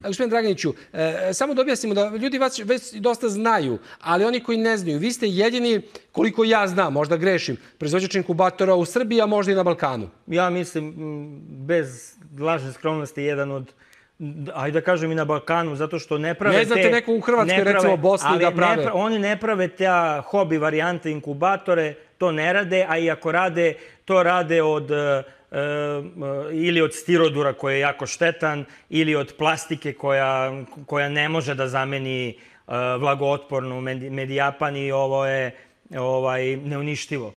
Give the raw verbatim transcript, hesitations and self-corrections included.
Gospodin Draganiću, samo da objasnimo da ljudi vas već dosta znaju, ali oni koji ne znaju, vi ste jedini, koliko ja znam, možda grešim, proizvođač inkubatora u Srbiji, a možda i na Balkanu. Ja mislim, bez lažne skromnosti, jedan od, ajde da kažem i na Balkanu, zato što ne prave te... Ne znate neko u Hrvatskoj, recimo Bosni, da prave... Oni ne prave te hobi varijante inkubatore, to ne rade, a i ako rade, to rade od... ili od stirodura koji je jako štetan, ili od plastike koja ne može da zameni vlagootpornu Medijapan i ovo je neuništivo.